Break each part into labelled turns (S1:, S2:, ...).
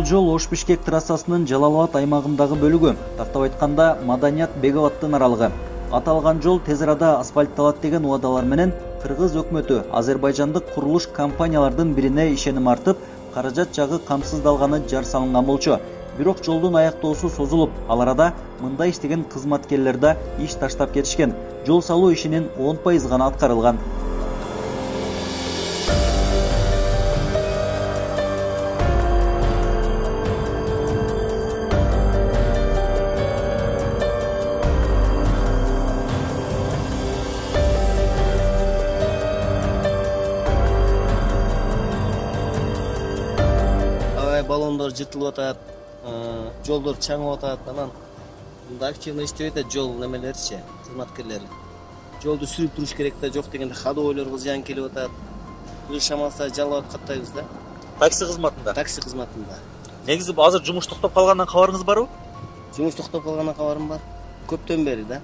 S1: жол Ош-Бишкек трассасынын Жалал Абад аймагындагы бөлүгү, тартап айтканда Маданият-Беговаттын аралыгы. Аталган жол тез арада асфальтталат деген убадалар менен Кыргыз өкмөтү азербайжандык курулуш компаниялардын бирине ишеним артып, каражат жагы камсыздалганы жар салынган болчу. Бирок жолдун аяктоосу созулуп, ал арада мында иштеген кызматкерлер да иш таштап кетишкен. Жол салуу ишинин 10% гана аткарылган.
S2: Баллондор жыртылып атат, жолдор чаңып атат, анан мында активно иштеп атат жол немелерчи, кызматкерлери. Жолду сүрүп туруш керек да, жок дегенде ходовойлорго зыян келип атат. Бир шамалса жалап каттайбыз да.
S1: Такси кызматында.
S2: Такси кызматында.
S1: Негизи азыр жумуш токтоп калгандан кабарыңыз барбы?
S2: Жумуш токтоп калгандан кабарым бар. Көптөн бери да.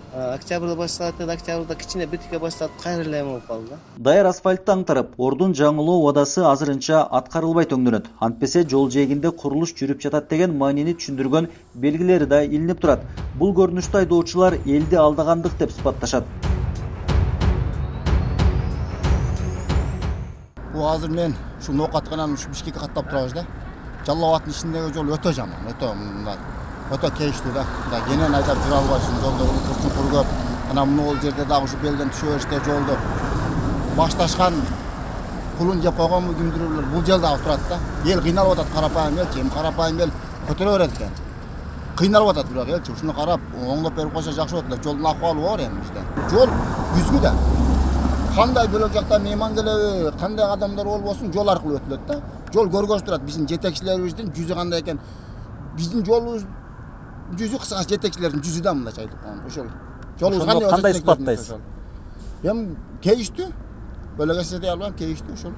S2: Октябрда башталат эди, октябрда кичине биртике башталып, кайра эле болуп калды да.
S1: Даяр асфальтты аңтарып, ордун жаңылоо убадасы азырынча аткарылбай төңдөнөт. Антпесе жол жээгинде курулуш жүрүп жатат деген маанини түшүндүргөн белгилери да илинип турат. Бул көрүнүштү айдоочулар элди алдагандык деп сыпатташат.
S3: Бул азыр мен ушу ноокатканан ушу Бишкекке каттап турабыз да. Жалал Абадтын ичиндеги жол өтө жаман, өтө кейиштүү да. Кенен айдап жүрө албайсың, жолдо чуңкур көп. Анан могул жерде дагы ушу белден түшө бериште жолду башташкан пулун жеп койгонбу кимдирүүлөр бул жер дагы турат да. Эл кыйналып атат, карапайым элчи, карапайым эл көтөрө берет экен. Кыйналып атат бирок элчи, ушуну карап оңдоп берип койсо жакшы болот эле. Жолдун акыбалы бар эми бизде. Жол күзгү да. Кандай бөлөк жакта мейман келеби, кандай адамдар болбосун жол аркылуу өтүлөт да. Жол көргөзүп турат биздин жетекчилерибиздин жүзү кандай экен. Биздин жолубуз жүзү кыскасы жетекчилердин жүзү да мындайча айтып коем. Ошол. Жолубуз
S1: кандай сыпаттайсыз?
S3: Эми кейиштүү. Бөлөк эсептей албайм, кейиштүү ошол.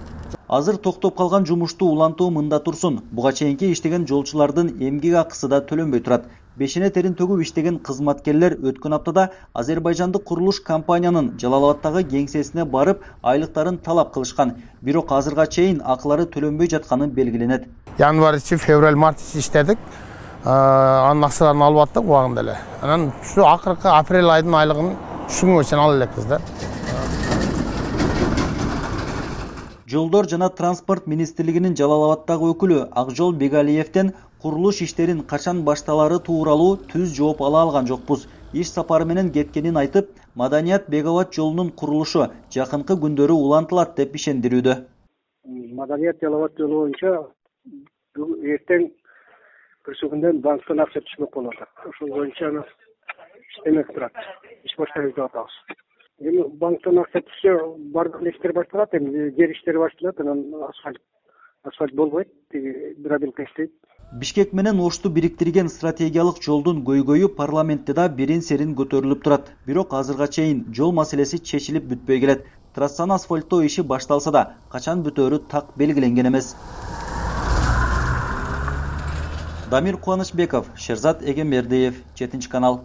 S1: Азыр токтоп калган жумушту улантуу мында турсун. Буга чейинки иштеген жолчулардын эмгек акысы да төлөнбөй турат. Бешине терин төгүп иштеген кызматкерлер өткөн аптада азербайжандык курулуш компаниянын Жалал Абадтагы кеңсесине барып, айлыктарын талап кылышкан. Бирок азырга чейин акылары төлөнбөй жатканы белгиленет.
S4: Январь, февраль, март иштедик. Анын акчаларын алып аттык убагында эле. Анан ушу акыркы апрель айдын айлыгын ушу күнгө чейин ала элекпиз да.
S1: Жолдор жана транспорт министрлигинин Жалал Абадтагы өкүлү Акжол Бегалиевден курулуш иштерин качан башталары тууралуу түз жооп ала алган жокпуз. Иш сапары менен кеткенин айтып, Маданият-Беговат жолунун курулушу жакынкы күндөрү улантылат деп ишендирүүдө.
S5: Маданият-Беговат жолу боюнча эртең күндөн банктан акча түшмөк болот. Ошол боюнча иштемек турат. Иш баштайбыз деп атабыз. Эми банктан акча түшсө, бардык иштер башталат, эми жер иштери башталат, анан асфальт болбойт, бир адымка иштейт.
S1: Бишкек менен Ошту бириктирген стратегиялык жолдун көйгөйү парламентте да берин-серин көтөрүлүп турат. Бирок азырга чейин жол маселеси чечилип бүтпөй келет. Трассаны асфальттоо иши башталса да, качан бүтөөрү так белгиленген эмес. Дамир Кубанычбеков, Шерзат Эгембердиев, 7 канал.